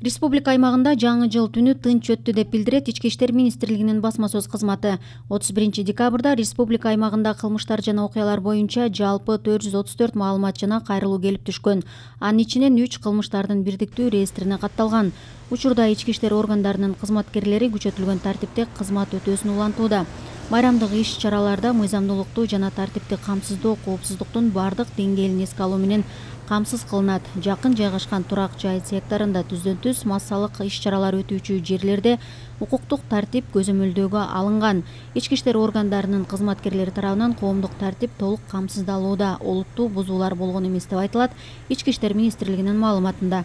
Республика аймагында жаңы жыл түнү тынч өттү деп билдирет Ички иштер министрлигинин басма сөз кызматы. 31 декабрда республика аймагында кылмыштар жана окуялар боюнча жалпы 434 маалымат жана кайрылуу келип түшкөн. Анын ичинен 3 кылмыштардын бирдиктүү реестрине катталган. Учурда ички иштер органдарынын кызматкерлери күчөтүлгөн тартипте кызмат өтөөсүн улантууда. Байрамдык иш-чараларда мыйзамдуулукту жана тартипти камсыздоо коопсуздуктун бардык деңгээлин эске алуу менен камсыз кылынат. Жакын жайгашкан турак жай секторунда түздөн-түз массалык иш-чаралар өтүүчү жерлерде укуктук тартип көзөмөлдөөгө алынган. Ички иштер органдарынын кызматкерлери тарабынан коомдук тартип толук камсыздалууда. Олуттуу бузуулар болгон эмес деп айтылат Ички иштер министрлигинин маалыматында.